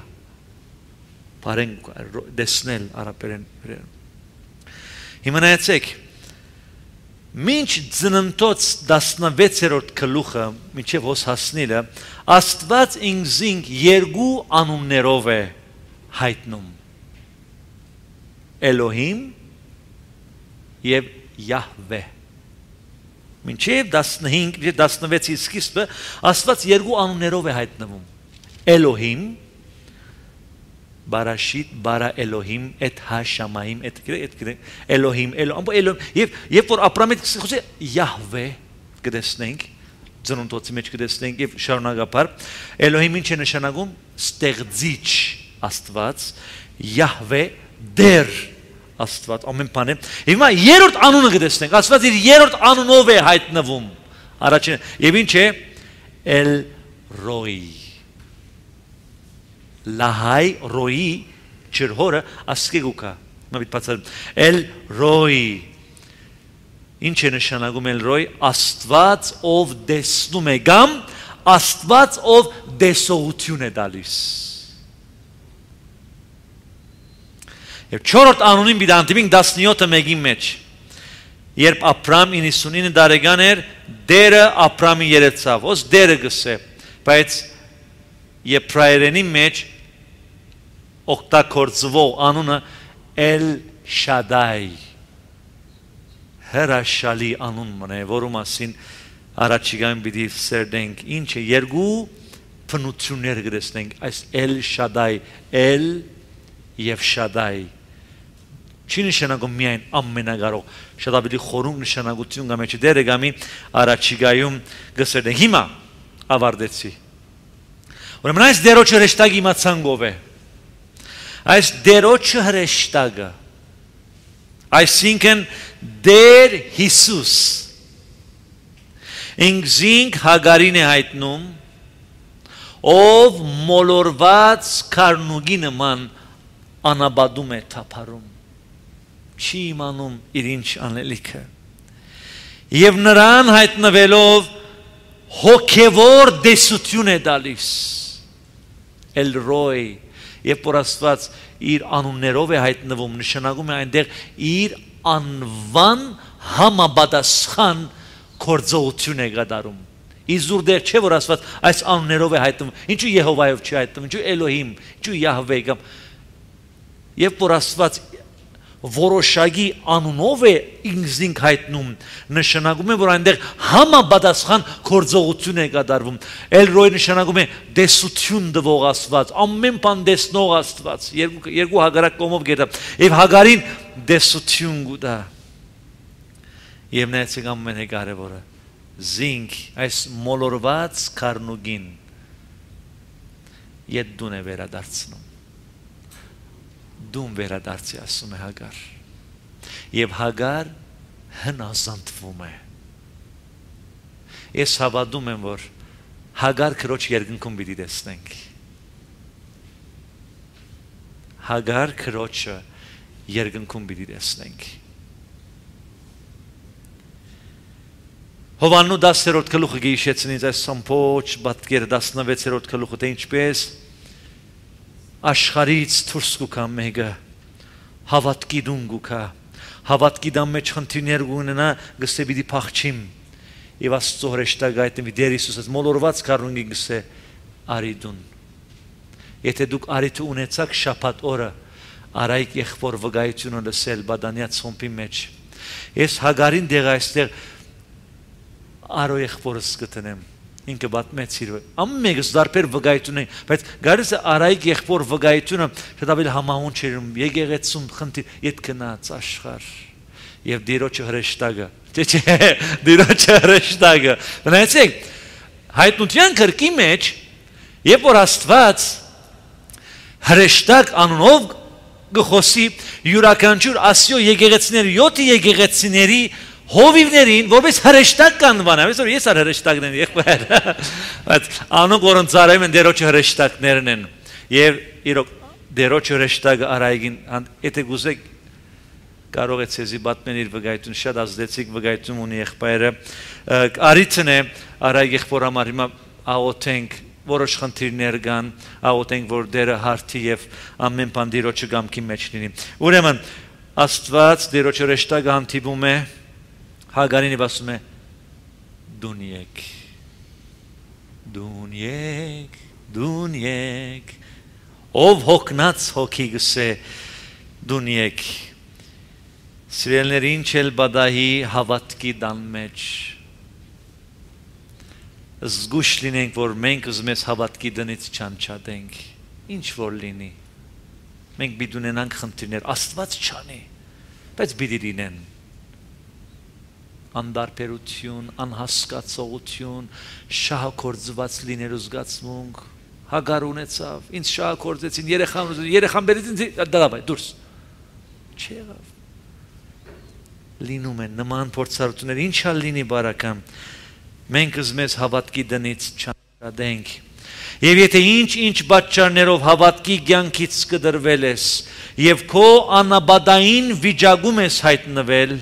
պարեն դեսնել արապերեն, հիմա նայեցեք, Մինչ ծննդոց 16-րդ գլուխը մինչև հոս հասնելը Աստված ինքզինք երկու անուններով է հայտնում Էլոհիմ եւ Յահվե Մինչև 15-16-ի սկիզբը Աստված երկու անուններով է հայտնվում Էլոհիմ Բարաշիտ, բարա Էլոհիմ, էտ հաշամայիմ, էտ Էլոհիմ, և որ ապրամիտ խոսե Յահվե կդեսնենք, ծնունդոցի մեջ կդեսնենք և շարունակապար, Էլոհիմ ինչ է նշանակում, ստեղծիչ Աստված, Յահվե դեր Աստված, ամեն պան է, և հիմա երորդ անունը կդեսնենք, Աստված իր երորդ անունով է հայտնվում, և ինչ է, Էլ Ռոյի Լահայ ռոյի չրհորը ասկեգուկա Էլ ռոյի Ինչ է նշանակում էլ ռոյ Աստված ով դեսնում է գամ Աստված ով դեսողություն է դալիս Եվ չորրորդ անունին բիդանտիմինք 17-ը մեկի մեջ Երբ ապրամ 99 դարեգան էր Դերը ապրամին երեցավ Ոս դերը գսե Բայց Եբրայերենի մեջ օգտագործվող անունը Էլ Շադայ հրաշալի անուն մնե, որու մասին առաջիկայում պիտի սերդենք, ինչ է երկու բնություններ գրեցնենք, այս Էլ Շադայ, Էլ եւ Շադայ չի նշանակում միայն ամենագարող, շատ ավելի խորհուրդ նշանակություն կա մեջ դերը գամի առաջիկայում գսերդենք։ Հիմա ավարտեցի։ Ուրեմն այս դերոջը հրեշտակի իմացանք ով է։ Այս դերոջը հրեշտակը, այսինքն Դեր Հիսուս ինքզինք Հագարին է հայտնում, ով մոլորված քարնուգի նման անաբադում է թափարում, չի իմանում իր ինչ անելիքը, և նրան հայտնվելով հոգևոր դեսություն է դալիս, Էլ Ռոյ, և որ Աստված իր անուններով է հայտնվում, նշանակում է այնտեղ իր անվան համապատասխան գործողություն է կատարում։ Իզուր դեր չէ որ Աստված այս անուններով է հայտնվում, ինչու Եհովայով չի հայտնվում, ինչու Էլոհիմ, ինչու Յահվե, և որ Աստված որոշակի անունով է ինքզինք հայտնում, նշանակում է, որ այնտեղ համապատասխան գործողություն է կատարվում։ Էլ Ռոյ նշանակում է դեսություն տվող Աստված, ամեն բան տեսնող Աստված, երկու հագարակ կողմով գետա, և Հագարին դեսություն կտա։ Եվ նայեցեք ամենակարևորը, զինք այս մոլորված քարնուգին ետ դուն է վերադարձնում։ Դուն վերադարձի ասում է Հագար, և Հագար հնազանդվում է։ Ես հավատում եմ, որ Հագար քրոջ երկնքում պիտի տեսնենք։ Հագար քրոջը երկնքում պիտի տեսնենք։ Հովաննու 10-րդ գլուխը գիշեցնից այս ամբողջ պատկերը 16-րդ գլուխը թե ինչպես աշխարից դուրս կգա մեկը հավատքի դուն կգա հավատքի դամ մեջ խնդիրներ ունենա գսե պիտի փախչիմ եւ Աստծո հրեշտակը այդտեղի Տեր Հիսուսը մոլորված կառունի գսե արի դուն եթե դուք արիթ ունեցաք շաբաթ օրը արայք եղբոր վկայությունը լսել բադանյաց խումբի մեջ ես Հագարին դեղ այստեղ արո եղբորս գտնեմ ինքը բատմեցիր ամենից դարբեր վկայություն է բայց գարիս արայք եղբոր վկայությունը շատավել համահունչ էր եկեղեցում խնդիր իդ կնաց աշխարհ եւ դիրոջը հրեշտակը չէ դիրոջը հրեշտակը մնացեք հայտնության կրկի մեջ երբ որ Աստված հրեշտակ անունով գխոսի յուրաքանչյուր ասիո եկեղեցիների 7 եկեղեցիների հովիվներին որպես հրեշտակ կանվանա այսօր ես հրեշտակն եմ եղբայր բայց անոնք որոնց արայում են դերոջ հրեշտակներն են եւ իրոք դերոջ հրեշտակը արայգին եթե գուզեք կարող է ցեզի բատմեն իր վկայություն շատ ազդեցիկ վկայություն ունի եղբայրը արիցն է արայ եղբոր համար հիմա աղոթենք որոշ խնդիրներ կան աղոթենք որ դերը հարթի եւ ամեն բան դերոջը գամքի մեջ լինի ուրեմն Աստված դերոջ հրեշտակը հանդիպում է Հագարին ասում է դուն եկ ով հոգնած հոգի գսե դուն եկ սիրելիներին չել բադահի հավատքի դան մեջ զգուշ լինենք որ մենք ուզում ես հավատքի դնից չանչադենք ինչ որ լինի մենք պիտի ունենանք խնդիրներ Աստված չանի բայց պիտի լինեն անդարբերություն, անհասկացողություն, շահագործված լինելու զգացմունք, Հագար ունեցավ, ինձ շահագործեցին, երեխան բերեցին, դալավայ, դուրս, չեղավ, լինում են նման փորձառություններ, ինչա լինի բարական, մենք մեզ հավատքի դնից չանչադենք, եւ եթե ինչ պատճառներով հավատքի կյանքից կդրվել ես, եւ քո անաբադային վիճակում ես հայտնվել,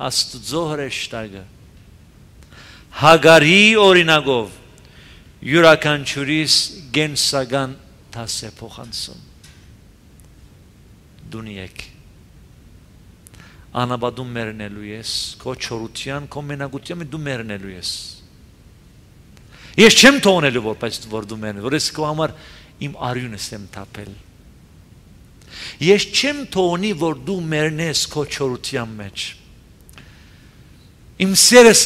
Աստծո հրեշտակը Հագարի օրինակով յուրաքանչյուրիս գենսական դաս է փոխանցում դուն եկ անաբադում մեռնելու ես քո չորության քո մենակության դու մեռնելու ես ես չեմ թողնելու որ դու մեռնես որ ես քո համար իմ արյունս եմ թափել ես չեմ թողնի որ դու մեռնես քո չորության մեջ Իմ սերս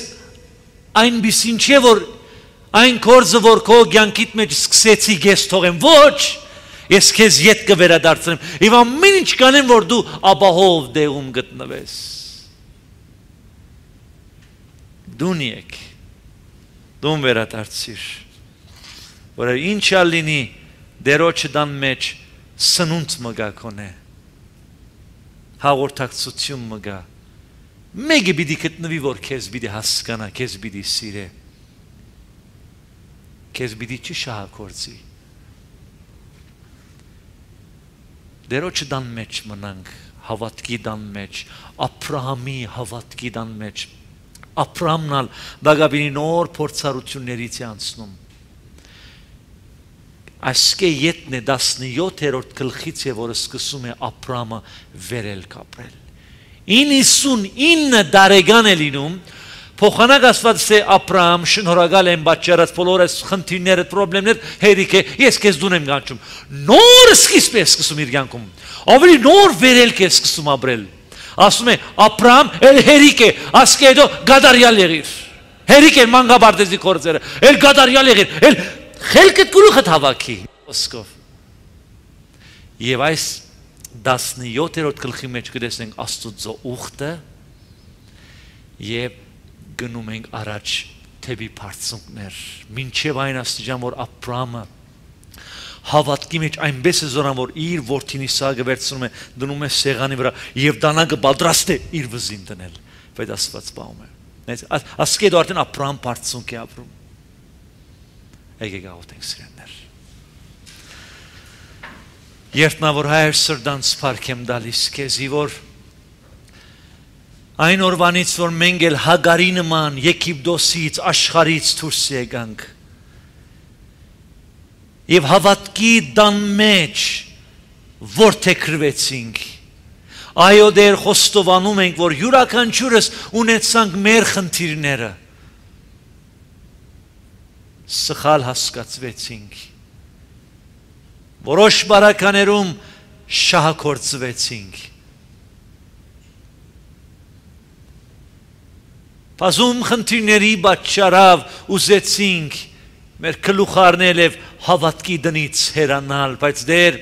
այնպիսին չէ որ այն կորձը որ քո կյանքիդ մեջ սկսեցի ես թողեմ ոչ ես քեզ ետ կվերադարձնեմ եւ ամեն ինչ կանեմ որ դու ապահով դեղում գտնվես դուն եկ դուն վերադարձիր որ ինչա լինի դերոջը դան մեջ սնունդ մգա կոնե հաղորդակցություն մգա Մեկը պիտի գտնվի որ քեզ պիտի հասկանա, քեզ պիտի սիրե, քեզ պիտի չշահագործի։ Դերոջը դան մեջ մնանք, հավատքի դան մեջ, Աբրահամի հավատքի դան մեջ, Աբրահամն ալ դագաբինի նոր փորձառություններից է անցնում։ Այսկե յետն է 17-րդ գլխից է որ սկսում է Աբրահամը վերել կապրել։ 99 դարեգան է լինում փոխանակ ասված է Աբրահամ շնորհակալ եմ պատճառած բոլոր այս խնդիրները խնդիրներ հերիք է ես քեզ դուն եմ կանչում նոր սկիզբ է սկսում իր կյանքում ավելի նոր վերելք է սկսում ապրել ասում է Աբրահամ էլ հերիք է ասկեդո գադարյալ եղիր հերիք է մանգաբարտեզի կորձերը էլ գադարյալ եղիր էլ խելքդ գլուխդ հավաքի ոսկով եւ այս 17-րդ գլխի մեջ կտեսնենք Աստծո ուխտը եւ գնում ենք առաջ թեպի բարձունքներ մինչեւ այն աստիճան որ Աբրահամը հավատքի մեջ այնպես է զորան որ իր որդին Իսահակը վերցնում է դնում է սեղանի վրա եւ դանակը պատրաստ է իր վզին դնել բայց Աստված բաղում է ասկեդ արդեն Աբրահամ բարձունք է ապրում եկեք աղոթենք սիրելիներ Երտնավոր հայր սրդանց փառք եմ դալիս քեզի որ այն օրվանից որ մենք էլ Հագարի նման Եգիպտոսից աշխարհից դուրս եկանք Եվ հավատքի դան մեջ որդեգրվեցինք։ Այո, դեր խոստովանում ենք, որ յուրաքանչյուրս ունեցանք մեր խնդիրները։ Սխալ հասկացվեցինք։ Որոշ բարականերում շահագործվեցինք։ Բազում խնդիրների պատճառով ուզեցինք մեր գլուխարնել եւ հավատքի դնից հեռանալ, բայց դեր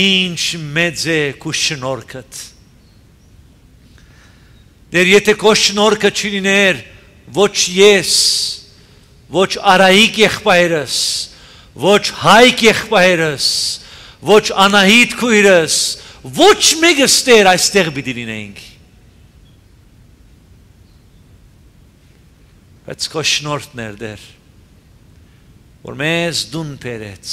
ինչ մեծ է քո շնորհքդ։ Դեր եթե քո շնորհքը չլիներ, ոչ ես, ոչ Արայիկ եղբայրս, ոչ Հայկ եղբայրս, ոչ Անահիտ քույրս, ոչ մեկս դեր այստեղ պիտի լինեինք։ Բայց քո շնորհքն էր դեր, որ մեզ դուն բերեց,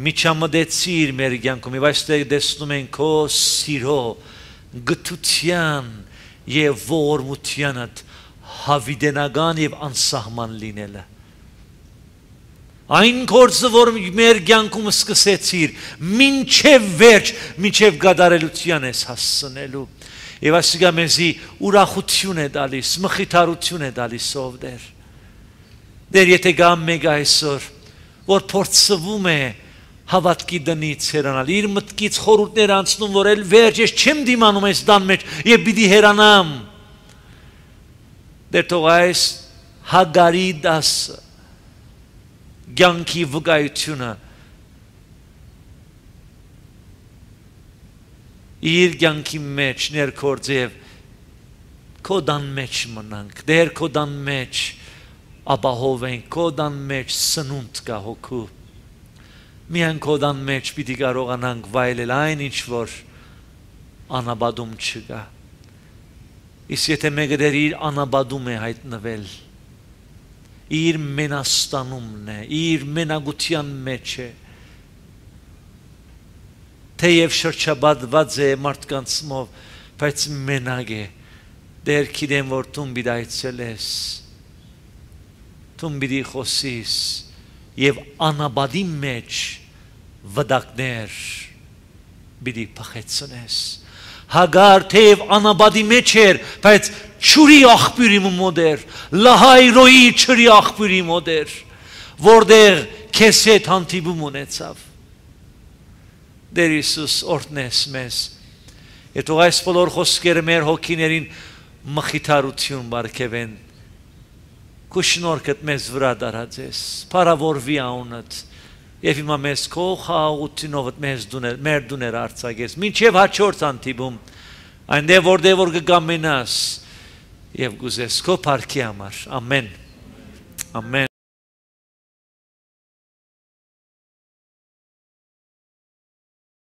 միջամտեցիր մեր կյանքում, եւ այստեղ տեսնում ենք քո սիրո, գթության եւ ողորմությանդ հավիտենական եւ անսահման լինելը։ Այն գործը, որ մեր կյանքում սկսեցիր, մինչև վերջ, մինչև գադարելության ես հասցնելու։ Եվ այսինքն մեզի ուրախություն է տալիս, մխիթարություն է տալիս ով դեր։ Դեր եթե գամ մեկ այսօր, որ փորձվում է հավատքի դնից հեռանալ, իր մտքից խորհուրդներ անցնում, որ էլ վերջ ես չեմ դիմանում այս դան մեջ եւ պիտի հեռանամ։ Դեր թող այս Հագարի դասը կյանքի վկայությունը իր կյանքի մեջ ներկործեվ քո դան մեջ մնանք, դեր քո դան մեջ ապահովենք, քո դան մեջ սնունդ կա հոգու, միայն քո դան մեջ պիտի կարողանանք վայելել այն ինչ որ անաբադում չկա։ Իսկ եթե մեկը դեր իր անաբադում է հայտնվել, իր մենաստանումն է, իր մենագության մեջ է, թեև շրջապատված է մարդկանցով, բայց մենակ է, դեր գիտեմ, որ դու պիտի այցելես, դու պիտի խոսես եւ անաբադի մեջ վտակներ պիտի փախեցնես։ Հագար թեև անաբադի մեջ էր, բայց չուրի աղբյուրի մոդեր, լահայրոյի չրի աղբյուրի մոդեր, որտեղ քեզ հետ հանդիպում ունեցավ։ Դեր Հիսուս օրհնես մեզ։ Եթ այս բոլոր խոսքերը մեր հոգիներին մխիթարություն բարգեւեն։ Քո շնորհքդ մեզ վրա դարածես, փառավորվի անունդ։ Եվ հիմա մեզ քո խաղաղությունով մեզ մեր դուներ արձակես, մինչև հաջորդ հանդիպում, այնտեղ որտեղ որ կգամենաս եւ գուզես քո փառքի համար։ Ամեն։ Ամեն։